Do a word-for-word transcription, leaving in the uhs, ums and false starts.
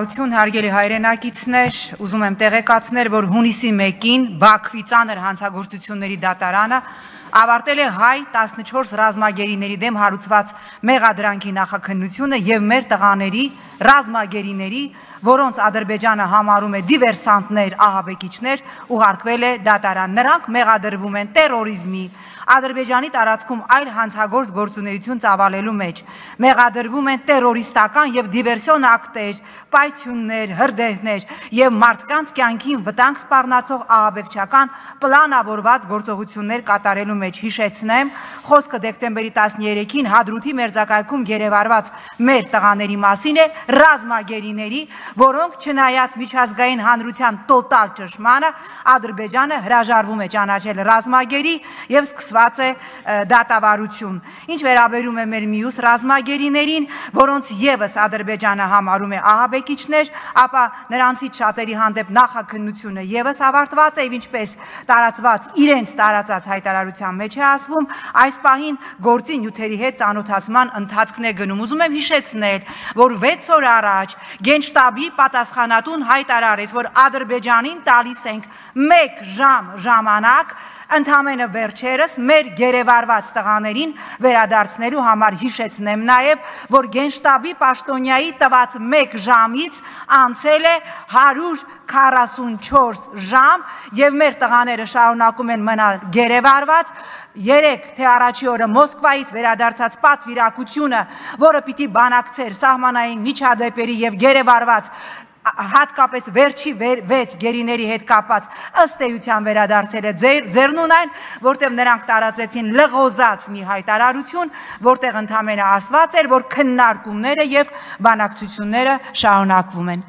Հարգելի հայրենակիցներ, ուզում եմ տեղեկացնել, որ հունիսի մեկին Բաքվի ծանր հանցագործությունների դատարանը ավարտել է հայ տասնչորս ռազմագերիների դեմ հարուցված մեղադրանքի նախաքննությունը եւ մեր տղաների ռազմագերիների, որոնց Ադրբեջանը համարում է դիվերսանտներ, ահաբեկիչներ, ուղարկվել է դատարան։ Նրանք մեղադրվում են տերորիզմի, Ադրբեջանի տարածքում այլ հանցագործ գործունեություն ծավալելու մեջ, մեղադրվում են տերորիստական եւ դիվերսիոն ակտեր, պայթյուններ, հրդեհներ եւ մարդկանց կյանքին վտանգ սպառնացող ահաբեկչական պլանավորված գործողություններ կատարելու մեջ։ Հիշեցնեմ, խոսքը դեկտեմբերի տասներեքին Հադրութի մերձակայքում գերեվարված մեր տղաների մասին է, ռազմագերիների, որոնք չնայած միջազգային հանրության տոտալ ճշմարանը, Ադրբեջանը հրաժարվում է ճանաչել ռազմագերի եւ սկսված է դատավարություն։ Ինչ վերաբերում է մեր մյուս ռազմագերիներին, որոնց եւս Ադրբեջանը համարում է ահաբեկիչներ, ապա նրանցից շատերի հանդեպ նախաքննությունը եւս ավարտված է, ինչպես տարածված իրենց տարածած հայտարարության մեջ է ասվում, այս պահին գործի նյութերի հետ ծանոթացման ընթացքն է գնում։ Ուզում եմ հիշեցնել, որ վեց օր առաջ Գենշտաբի պատասխանատուն հայտարարեց, որ Ադրբեջանին տալիս ենք մեկ ժամ ժամանակ ընդամենը վերջերս մեր գերեվարված տղաներին վերադարձնելու համար։ Հիշեցնեմ նաև, որ Գենշտաբի պաշտոնյայի տված մեկ ժամից անցել է հարյուր քառասունչորս ժամ եւ մեր տղաները շարունակում են մնալ գերեվարված։ Երեք թե առաջի օրը Մոսկվայից վերադարձած պատվիրակությունը, որը պիտի բանակցեր սահմանային միջադեպերի եւ գերեվարված հատկապես վերջի վեց գերիների հետ կապած ըստ էության վերադարձել է ձեռնուն այն, որտեղ նրանք տարածեցին լղոզած մի հայտարարություն, որտեղ ընդամենը ասված էր, որ քննարկումները եւ բանակցությունները շարունակվում են։